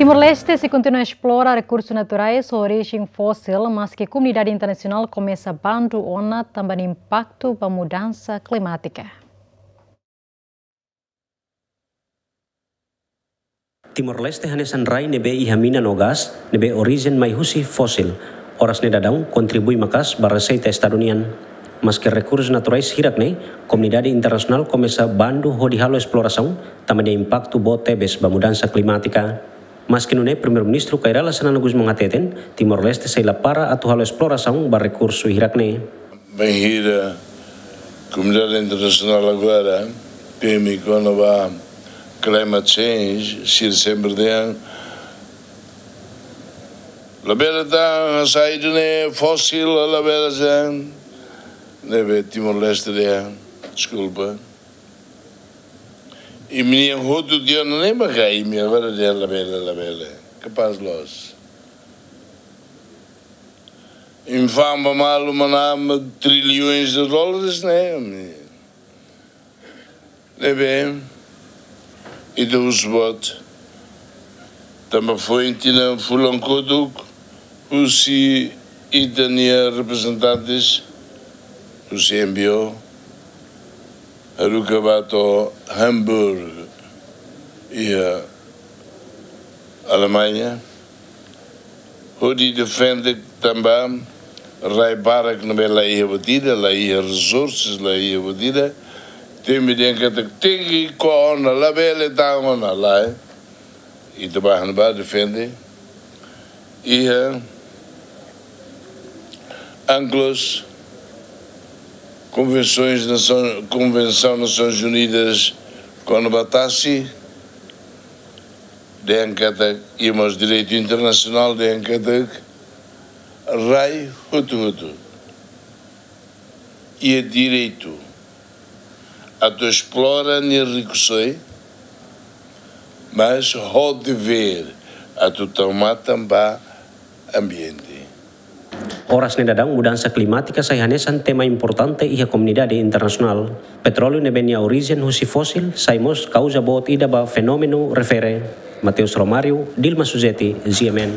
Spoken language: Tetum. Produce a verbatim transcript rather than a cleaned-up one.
Timor-Leste sei kontinua esplora rekursu naturais ho orijen fosil, maski komunidade internasionál komesa bandu ona tanba nia impaktu ba mudansa klimátika. Timor-Leste hanesan rai ne'ebé iha mina no gás, ne'ebé orijen mai husi fosil. Oras ne'e daudaun kontribui maka'as ba reseita estadu nian. Maski rekursu naturais hirak ne'e, komunidade internasionál komesa bandu hodi halo esplorasaun, tanba nia impaktu boot tebes ba mudansa klimátika. Maski nune'e, Primeiru-Ministru Kay Rala Xanana Gusmão hateten, Timor-Leste sei la para atu halo esplorasaun ba rekursu hirak ne'e. Bainhira komunidade internasionál agora temi kona-ba climate change, sira sempre dehan, labele tan hasai ida-ne'e fosil, labele tan, ne'ebé Timor-Leste dehan, deskulpa. Imi-nian hotu tiha ona ne'e mak imi agora dehan labele, labele. Kapás loos. Imi fa'an ba malu manán trilhões de dólares, ne'e? Ne'ebé, ita husu boot. Tanba foin tinan fulan kotuk, husi ita-nia reprezentantes, husi N P O, haruka ba to'o Hamburg, iha Alemaña, hodi defende tanba rai barak ne'ebé la iha buat ida, la iha resources, la iha buat ida, temi dehan katak tenke ko'a ona, labele tan ona, lae. Ita ba han ba defende. Iha UNCLOS, Konvensoens Nasaun-, Konvensaun Nasoins Unidas kona-ba tasi, dehan katak, i mós direitu internasionál dehan katak, rai hotu-hotu iha direitu atu esplora nia rikusoin, mas ho devér atu tau matan ba ambiente. Oras ne'e daudaun mudansa klimátika sai hanesan tema importante iha komunidade internasionál. Petróleu ne'ebé nia orijen husi fosil sai mós kauza boot ida ba fenómenu refere. Mateus Romário, Dilma Suzeti, G M N.